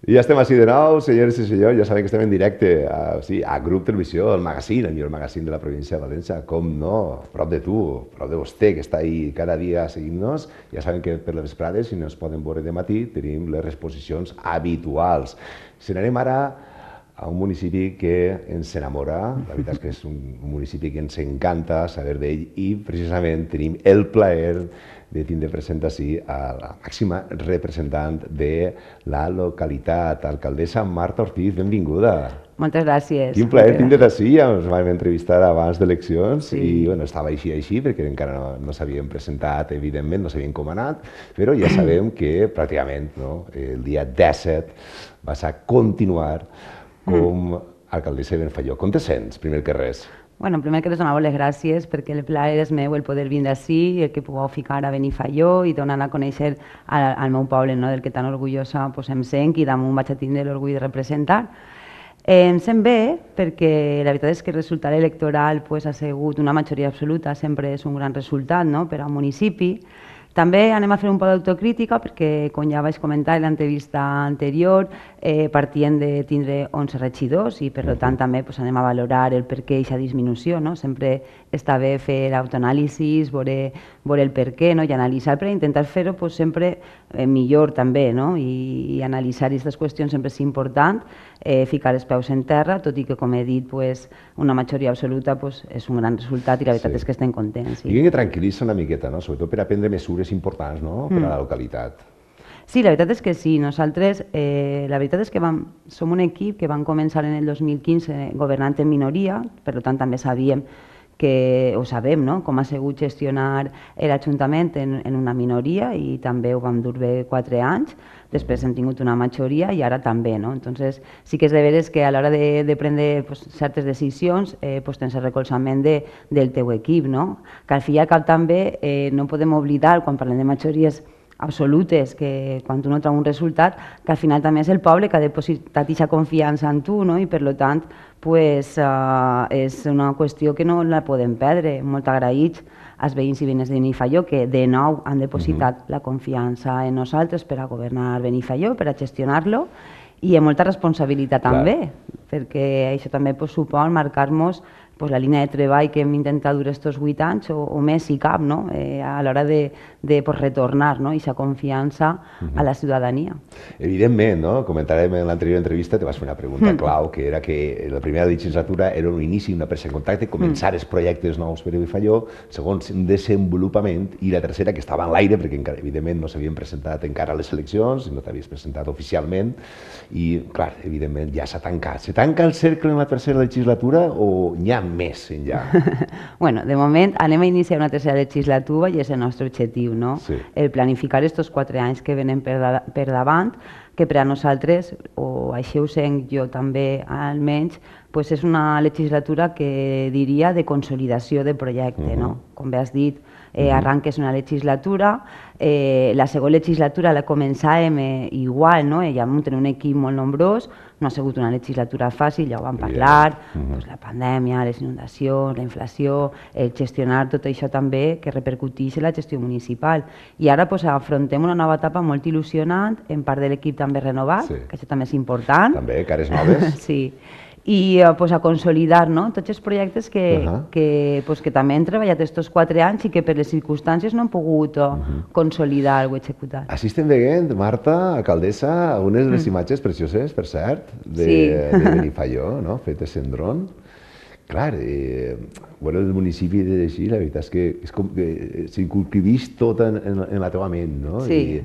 I ja estem així de nou, senyores i senyors, ja sabem que estem en directe a Grup Televisió, el magazín, el millor magazín de la província de València, com no, prop de tu, prop de vostè, que està ahí cada dia seguint-nos. Ja saben que per les vesprades, si no es poden veure de matí, tenim les exposicions habituals. Si n'anem ara a un municipi que ens enamora, la veritat és que és un municipi que ens encanta saber d'ell i precisament tenim el plaer de tindre present així a la màxima representant de la localitat, alcaldessa Marta Ortiz, benvinguda. Moltes gràcies. Quin plaer tindre't així, ja ens vam entrevistar abans d'eleccions i bueno, estava així perquè encara no s'havien presentat, evidentment, no s'havien comanat, però ja sabem que pràcticament el dia 17 vas a continuar com a alcaldessa de Benifaió. Com te sents, primer que res? Bueno, primer que res donar les gràcies perquè el plaer és meu el poder vindre ací, el que pugueu ficar a Benifaió i donar a conèixer al meu poble, del que tan orgullosa em sent i damunt vaig a tindre l'orgull de representar. Em sent bé perquè la veritat és que el resultat electoral ha sigut una majoria absoluta, sempre és un gran resultat per a un municipi. També anem a fer un poc d'autocrítica perquè, com ja vaig comentar en l'entrevista anterior, partien de tindre 11 regidors i per tant també anem a valorar el per què aquesta disminució. Sempre està bé fer l'autoanàlisi, veure el per què i analitzar per intentar fer-ho sempre millor també i analitzar aquestes qüestions sempre és important, ficar els peus en terra, tot i que, com he dit, una majoria absoluta és un gran resultat i la veritat és que estem contents. I que tranquil·litza una miqueta, sobretot per a prendre mesures importants per a la localitat. Sí, la veritat és que sí. Nosaltres, la veritat és que som un equip que vam començar en el 2015 governant en minoria, per tant també sabem com ha sigut gestionar l'Ajuntament en una minoria i també ho vam dur bé 4 anys. Després hem tingut una majoria i ara també. Entonces, sí que és de veres que a l'hora de prendre certes decisions tens el recolzament del teu equip. Que al fi i al cap també no podem oblidar, quan parlem de majories absolutes, que quan tu no treu un resultat, que al final també és el poble que ha depositat aquesta confiança en tu i per tant és una qüestió que no la podem perdre. Molt agraïts als veïns i veïnes de Benifaió que de nou han depositat la confiança en nosaltres per a governar Benifaió, per a gestionar-lo i amb molta responsabilitat també, perquè això també supon marcar-nos la línia de treball que hem intentat dur aquests 8 anys o més si cap, a l'hora de retornar aquesta confiança a la ciutadania. Evidentment, comentarem en l'anterior entrevista, te vas fer una pregunta clau, que era que la primera legislatura era un inici, una presa en contacte, començar els projectes nous per a Benifaió, segons un desenvolupament, i la tercera, que estava en l'aire, perquè encara, evidentment, no s'havien presentat encara a les eleccions, no t'havies presentat oficialment, i, clar, evidentment, ja s'ha tancat. Se tanca el cercle en la tercera legislatura o n'hi ha més enllà? Bueno, de moment anem a iniciar una tercera legislatura i és el nostre objectiu, el planificar aquests 4 anys que venen per davant, que per a nosaltres, o així ho sent jo també almenys, és una legislatura que diria de consolidació de projecte. Com bé has dit, arranques una legislatura, la segona legislatura la començàvem igual, ja vam tenir un equip molt nombrós, no ha sigut una legislatura fàcil, ja ho vam parlar, la pandèmia, les inundacions, la inflació, gestionar tot això també que repercuteix en la gestió municipal. I ara afrontem una nova etapa molt il·lusionant, en part de l'equip també renovat, que això també és important. També, cares noves. Sí. I a consolidar tots els projectes que també hem treballat aquests 4 anys i que per les circumstàncies no han pogut consolidar o executar. Així estem veient, Marta, alcaldessa, unes de les imatges precioses, per cert, de Benifaió, fetes en dron. Clar, veure el municipi d'així, la veritat és que s'incurquivix tot en la teva ment, no? Sí.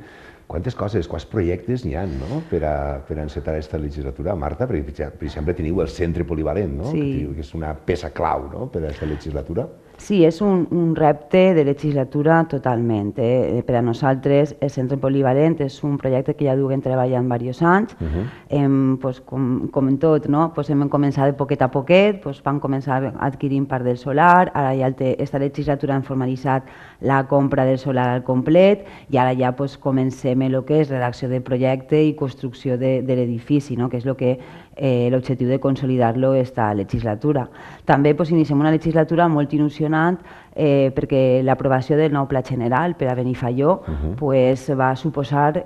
Quantes coses, quants projectes n'hi ha per a encetar aquesta legislatura? Marta, per exemple, teniu el centre polivalent, que és una peça clau per a aquesta legislatura. Sí, és un repte de legislatura totalment. Per a nosaltres el centre polivalent és un projecte que ja duem treballant diversos anys. Com en tot, hem començat de poquet a poquet, vam començar adquirint part del solar, ara ja aquesta legislatura hem formalitzat la compra del solar al complet i ara ja comencem el que és redacció de projecte i construcció de l'edifici, que és l'objectiu de consolidar-lo aquesta legislatura. També iniciem una legislatura molt il·lusionant perquè l'aprovació del nou Pla General per a Benifaió pues, va suposar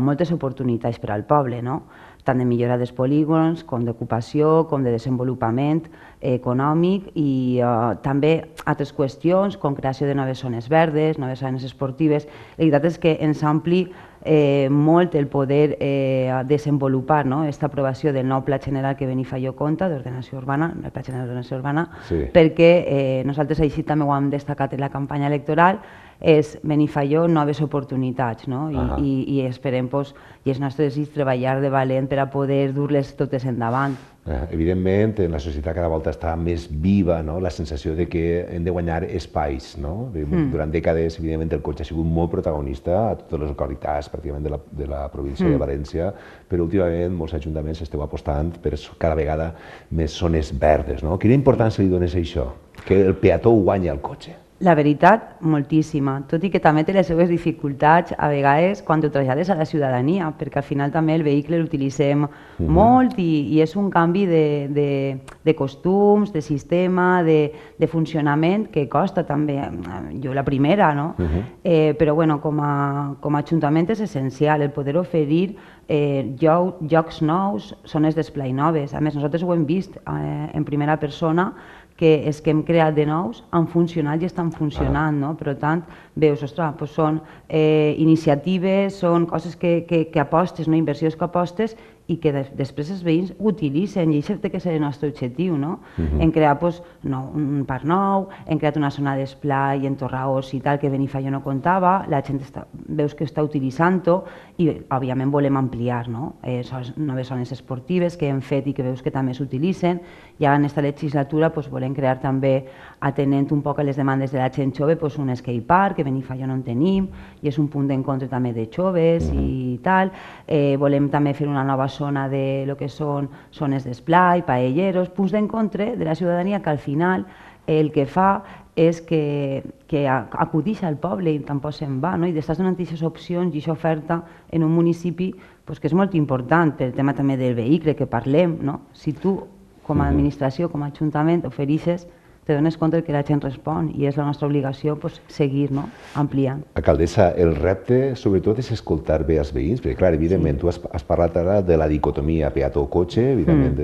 moltes oportunitats per al poble, no? Tant de millora dels polígons, com d'ocupació, com de desenvolupament econòmic i també altres qüestions, com creació de noves zones verdes, noves zones esportives. La veritat és que ens ampli molt el poder desenvolupar aquesta aprovació del nou Pla General que Benifaió compta d'ordenació urbana, el Pla General d'Ordenació Urbana, perquè nosaltres així també ho hem destacat en la campanya electoral, és Benifaió noves oportunitats, i esperem, i el nostre desig, treballar de valent per a poder dur-les totes endavant. Evidentment, en la societat cada volta està més viva la sensació de que hem de guanyar espais. Durant dècades, evidentment, el cotxe ha sigut molt protagonista a totes les localitats pràcticament de la província de València, però últimament molts ajuntaments esteu apostant per cada vegada més zones verdes. Quina importància li dones a això? Que el peató guanyi el cotxe? La veritat, moltíssima, tot i que també té les seves dificultats a vegades quan ho trasllades a la ciutadania, perquè al final també el vehicle l'utilitzem molt i és un canvi de costums, de sistema, de funcionament que costa també, jo la primera, no? Però bueno, com a ajuntament és essencial el poder oferir llocs nous, zones d'esplai noves. A més, nosaltres ho hem vist en primera persona, que és que hem creat de nous, han funcionat i estan funcionant, no? Per tant, veus, ostres, són iniciatives, són coses que apostes, inversions que apostes i que després els veïns utilitzen, i això té que ser el nostre objectiu, no? Hem creat un parc nou, hem creat una zona d'esplai en Torraós i tal, que Benifaió no comptava, la gent veus que està utilitzant-ho i, òbviament, volem ampliar, no? Noves zones esportives que hem fet i que veus que també s'utilitzen, i ara en aquesta legislatura volem crear també, atenent un poc a les demandes de la gent jove, un skatepark, que Benifaió no en tenim, i és un punt d'encontre també de joves i tal. Volem també fer una nova zona de lo que són zones d'esplai, paelleros, punts d'encontre de la ciutadania que al final el que fa és que acudix al poble i tampoc se'n va, i d'estàs donant aquestes opcions i aquesta oferta en un municipi que és molt important pel tema també del vehicle que parlem. Si tu, com a administració, com a ajuntament, ofereixes, te dones compte que la gent respon i és la nostra obligació seguir ampliant. Alcaldessa, el repte sobretot és escoltar bé els veïns, perquè clar, evidentment tu has parlat ara de la dicotomia peató-cotxe, evidentment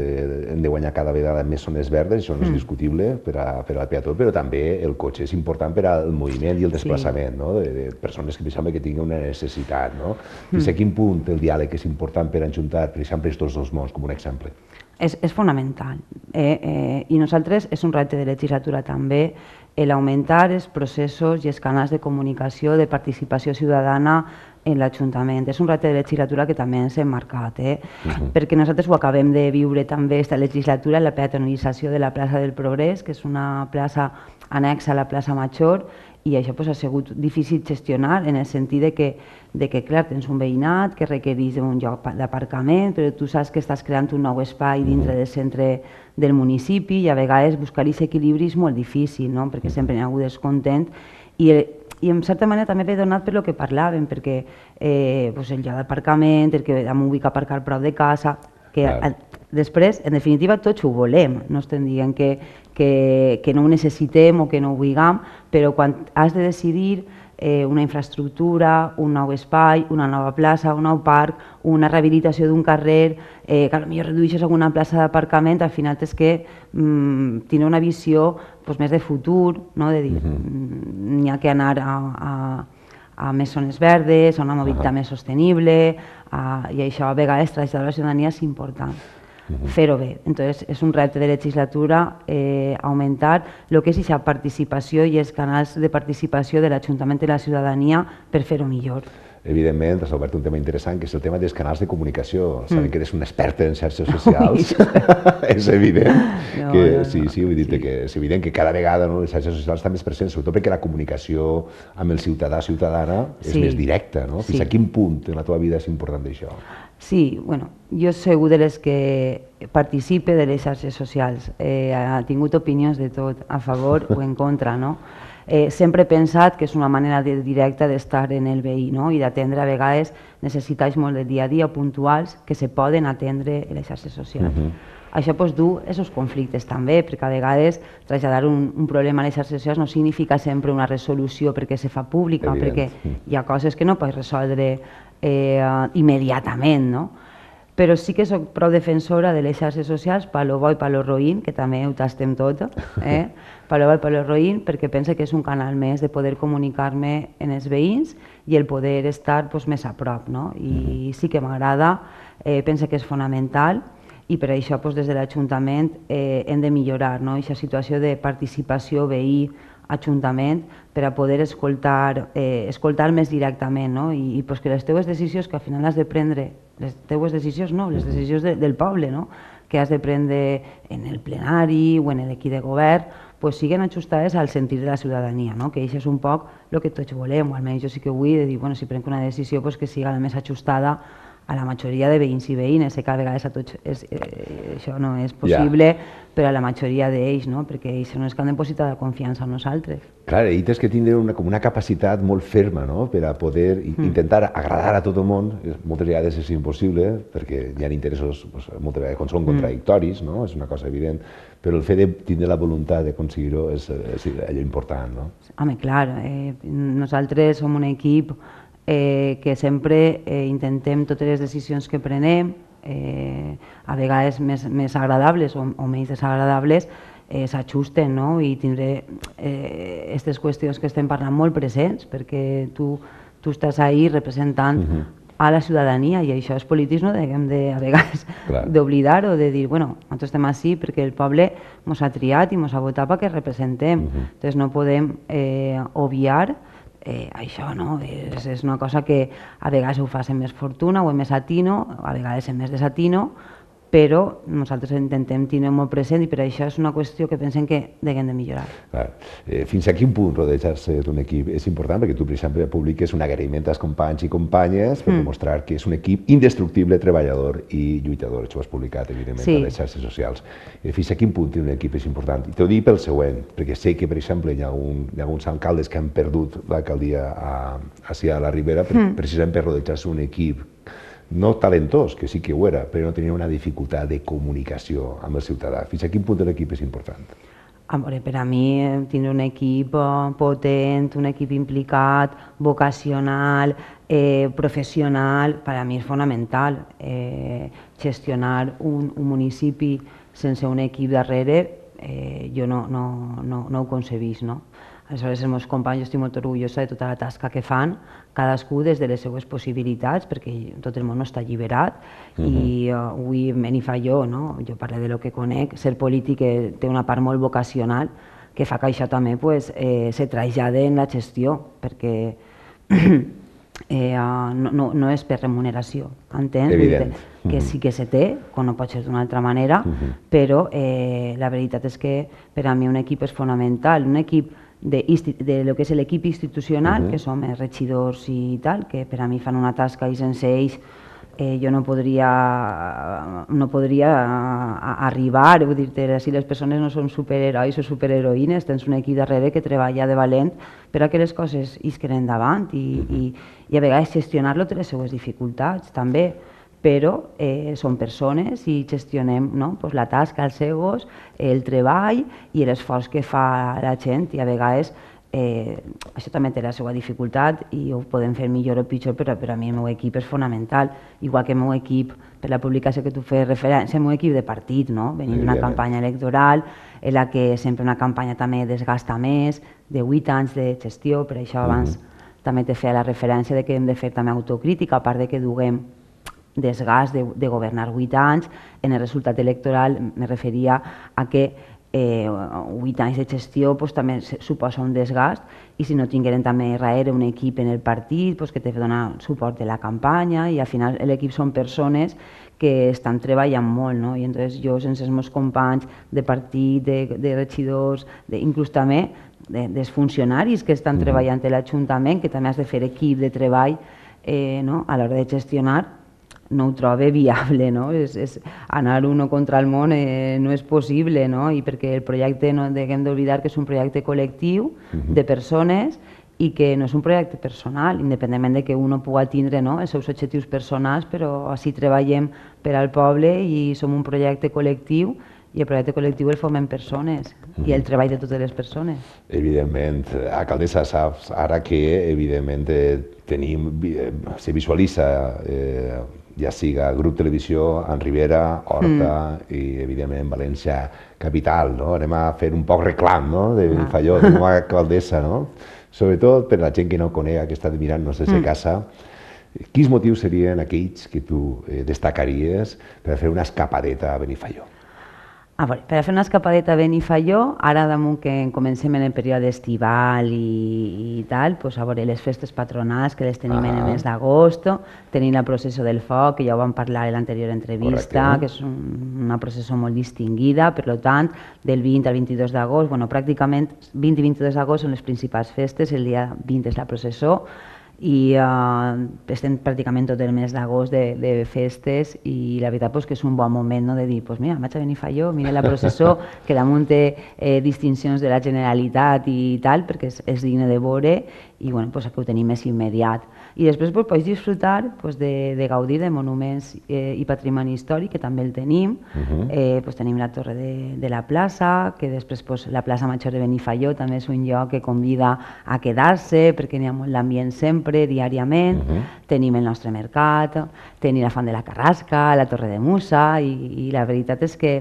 hem de guanyar cada vegada més zones verdes, això no és discutible per al peató, però també el cotxe és important per al moviment i el desplaçament de persones que deixem que tinguin una necessitat. Fins a quin punt el diàleg és important per ajuntar, per exemple, aquests dos mons, com un exemple? És fonamental i nosaltres és un repte de legislatura també l'augmentar els processos i els canals de comunicació de participació ciutadana en l'Ajuntament. És un repte de legislatura que també ens hem marcat, perquè nosaltres ho acabem de viure també aquesta legislatura, la peatonalització de la plaça del Progrés, que és una plaça anexa a la plaça Major, i això ha sigut difícil gestionar en el sentit que clar, tens un veïnat que requereix un lloc d'aparcament, però tu saps que estàs creant un nou espai dintre del centre del municipi i a vegades buscar aquest equilibri és molt difícil, perquè sempre hi ha hagut descontent i en certa manera també ve donat per el que parlàvem, perquè el lloc d'aparcament, el que em vull aparcar prop de casa, que després, en definitiva, tots ho volem, no estem dient que no ho necessitem o que no ho vulguem, però quan has de decidir una infraestructura, un nou espai, una nova plaça, un nou parc, una rehabilitació d'un carrer, que potser redueixes alguna plaça d'aparcament, al final tens que tenir una visió més de futur, de dir, n'hi ha que anar a més zones verdes, a una mobilitat més sostenible, i això a vegades traslladar a la ciutadania és important. Fer-ho bé. Entonces, és un repte de legislatura augmentar el que és aquesta participació i els canals de participació de l'Ajuntament i la ciutadania per fer-ho millor. Evidentment, has obert un tema interessant, que és el tema dels canals de comunicació. Sabem que eres una experta en xarxes socials. És evident que és evident que cada vegada les xarxes socials estan més presents, sobretot perquè la comunicació amb el ciutadà-ciutadana és més directa. Fins a quin punt en la teva vida és important això? Sí, bueno, jo soc de les que participe de les xarxes socials. Ha tingut opinions de tot, a favor o en contra, no? sempre he pensat que és una manera directa d'estar en el veí, no? I d'atendre a vegades necessitats molt de dia a dia puntuals que se poden atendre en les xarxes socials. Això du aquests conflictes també, perquè a vegades traslladar un problema a les xarxes socials no significa sempre una resolució perquè se fa pública, perquè hi ha coses que no pots resoldre immediatament, no? Però sí que soc prou defensora de les xarxes socials, pa lo bo i pa lo roïn, que també ho tastem tot, pa lo bo i pa lo roïn, perquè penso que és un canal més de poder comunicar-me en els veïns i el poder estar més a prop, no? I sí que m'agrada, penso que és fonamental, i per això des de l'Ajuntament hem de millorar aquesta situació de participació veí-Ajuntament per a poder escoltar més directament i que les teves decisions que al final has de prendre, les teves decisions no, les decisions del poble que has de prendre en el plenari o en l'equip de govern siguin ajustades al sentir de la ciutadania, que això és un poc el que tots volem, o almenys jo sí que vull dir, si prenc una decisió que sigui la més ajustada a la majoria de veïns i veïnes, sé que a vegades a tots això no és possible, però a la majoria d'ells, perquè ells són els que han de depositar la confiança en nosaltres. Clar, i tens que tindre una capacitat molt ferma per a poder intentar agradar a tot el món. Moltes vegades és impossible, perquè hi ha interessos, moltes vegades quan són contradictoris, és una cosa evident, però el fet de tindre la voluntat d'aconseguir-ho és allò important. Home, clar, nosaltres som un equip que sempre intentem totes les decisions que prenem, a vegades més agradables o menys desagradables, s'ajusten i tindré aquestes qüestions que estem parlant molt presents, perquè tu estàs ahí representant a la ciutadania i això els polítics no hem a vegades d'oblidar o de dir, bueno, nosaltres estem així perquè el poble ens ha triat i ens ha votat perquè representem, doncs no podem obviar això, no? És una cosa que a vegades ho fas amb més fortuna o amb més atino, a vegades amb més desatino, però nosaltres intentem tenir molt present i per això és una qüestió que pensem que hem de millorar. Fins a quin punt rodejar-se d'un equip és important? Perquè tu, per exemple, publiques un agraïment als companys i companyes per demostrar que és un equip indestructible, treballador i lluitador. Això ho has publicat, evidentment, a les xarxes socials. Fins a quin punt un equip és important? I t'ho dic pel següent, perquè sé que, per exemple, hi ha alguns alcaldes que han perdut l'alcaldia a la Ribera precisament per rodejar-se un equip no talentós, que sí que ho era, però no tenia una dificultat de comunicació amb el ciutadà. Fins a quin punt l'equip és important? Per a mi, tindre un equip potent, un equip implicat, vocacional, professional, per a mi és fonamental. Gestionar un municipi sense un equip darrere, jo no ho concebís, no? Aleshores, els meus companys, jo estic molt orgullosa de tota la tasca que fan, cadascú des de les seues possibilitats, perquè tot el món no està alliberat, i avui me n'hi fa jo parlo de lo que conec, ser polític té una part molt vocacional, que fa que això també se trasllada en la gestió, perquè no és per remuneració, entens? Que sí que se té, com no pot ser d'una altra manera, però la veritat és que per a mi un equip és fonamental, un equip de lo que és l'equip institucional, que som els regidors i tal, que per a mi fan una tasca i sense ells jo no podria arribar, vull dir-te, si les persones no són superherois o superheroïnes, tens un equip darrere que treballa de valent per a que les coses isquen endavant i a vegades gestionar-lo té les seues dificultats també, però són persones i gestionem la tasca, els egos, el treball i l'esforç que fa la gent i a vegades això també té la seva dificultat i ho podem fer millor o pitjor, però per a mi el meu equip és fonamental, igual que el meu equip, per la publicació que tu fes referència, el meu equip de partit, venint d'una campanya electoral, en la que sempre una campanya també desgasta més, de 8 anys de gestió, per això abans també te feia la referència de que hem de fer també autocrítica, a part de que duguem desgast de governar 8 anys, en el resultat electoral me referia a que 8 anys de gestió també suposa un desgast i si no tingueren també darrere un equip en el partit que te dona suport de la campanya i al final l'equip són persones que estan treballant molt i entonces jo sense els meus companys de partit, de regidors, inclús també dels funcionaris que estan treballant a l'Ajuntament, que també has de fer equip de treball a l'hora de gestionar, no ho troba viable, no? Anar uno contra el món no és possible, no? I perquè el projecte no hem d'oblidar que és un projecte col·lectiu de persones i que no és un projecte personal, independentment de que uno pugui tindre, no, els seus objectius personals, però així treballem per al poble i som un projecte col·lectiu i el projecte col·lectiu el formem persones i el treball de totes les persones. Evidentment, alcaldessa, saps ara que evidentment tenim, se visualitza ja siga Grup Televisió, en Ribera, Horta i evidentment València capital, no? Anem a fer un poc reclam, no?, de Benifaió, com a alcaldessa, no? Sobretot per la gent que no conega, que està mirant-nos des de casa, quins motius serien aquells que tu destacaries per fer una escapadeta a Benifaió? Per a fer una escapadeta a Benifaió, ara damunt que comencem en el període estival i tal, les festes patronals que les tenim en el mes d'agost, tenim la processó del foc, que ja ho vam parlar en l'anterior entrevista, que és una processó molt distinguida, per tant, del 20 al 22 d'agost, pràcticament 20 i 22 d'agost són les principals festes, el dia 20 és la processó, i estem pràcticament tot el mes d'agost de festes i la veritat que és un bon moment de dir, mira, vaig a Benifaió, mira la processó, que damunt té distincions de la Generalitat i tal, perquè és digne de veure i aquí ho tenim més immediat. I després pots disfrutar de gaudir de monuments i patrimoni històric, que també el tenim. Tenim la Torre de la Plaça, que després la Plaça Major de Benifaió també és un lloc que convida a quedar-se, perquè n'hi ha molt l'ambient sempre, diàriament. Tenim el nostre mercat, tenim la Font de la Carrasca, la Torre de Musa, i la veritat és que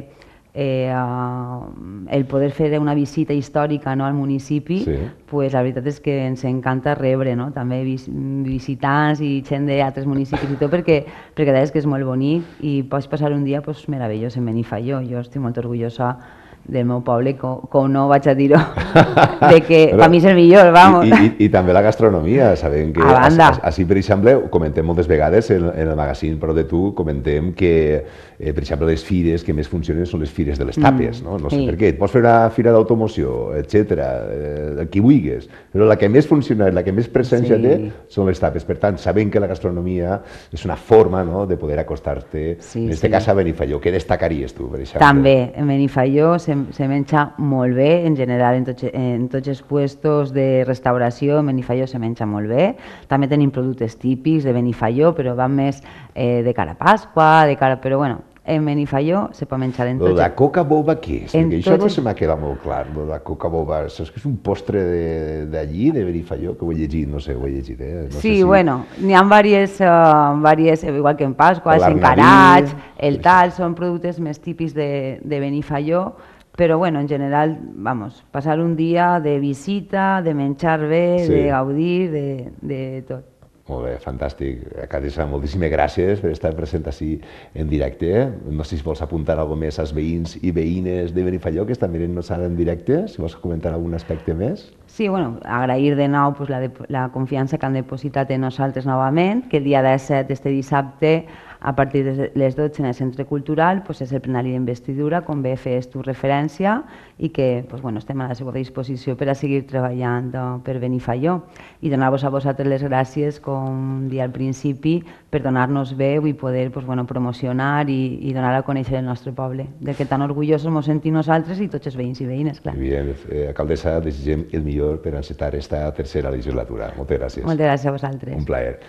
el poder fer una visita històrica al municipi, la veritat és que ens encanta rebre també visitants i gent d'altres municipis i tot, perquè és que és molt bonic i pots passar un dia meravellós en Benifaió. Jo estic molt orgullosa del meu poble, com no vaig a dir-ho, que per mi és el millor, vamos. I també la gastronomia, sabem que així, per exemple, ho comentem moltes vegades en el magazín Prou de Tu, comentem que, per exemple, les fires que més funcionen són les fires de les tapes, no sé per què, et pots fer una fira d'automoció, etcètera, el que vulguis, però la que més funciona, la que més presència té, són les tapes. Per tant, sabem que la gastronomia és una forma de poder acostar-te, en aquest cas a Benifaió. Què destacaries tu, per exemple? També, en Benifaió se menja molt bé, en general en tots els puestos de restauració en Benifaió se menja molt bé. També tenim productes típics de Benifaió, però van més de cara a Pasqua, però bueno, en Benifaió se pot menjar en tots... La coca boba què és? Perquè això no se m'ha quedat molt clar, la coca boba. Saps que és un postre d'allí, de Benifaió, que ho he llegit, no sé, ho he llegit, Sí, bueno, n'hi ha diverses, igual que en Pasqua, els encarats, el tal, són productes més típics de Benifaió, però bueno, en general, passar un dia de visita, de menjar bé, de gaudir, de tot. Molt bé, fantàstic. Alcaldessa, moltíssimes gràcies per estar present així en directe. No sé si vols apuntar alguna més als veïns i veïnes de Benifaió que estan mirant-nos ara en directe, si vols comentar algun aspecte més. Sí, bueno, agrair de nou la confiança que han depositat en nosaltres novament, que el dia 17 d'este dissabte, a partir de les 12 en el Centre Cultural, és el plenari d'investidura, com bé fes tu referència, i que estem a la seva disposició per a seguir treballant per Benifaió. I donar-vos a vosaltres les gràcies, com dia al principi, per donar-nos veu i poder promocionar i donar a conèixer el nostre poble, de que tan orgullosos ens sentim nosaltres i tots els veïns i veïnes, clar. Bien, alcaldessa, desitgem el millor per encetar esta tercera legislatura. Moltes gràcies. Moltes gràcies a vosaltres. Un plaer.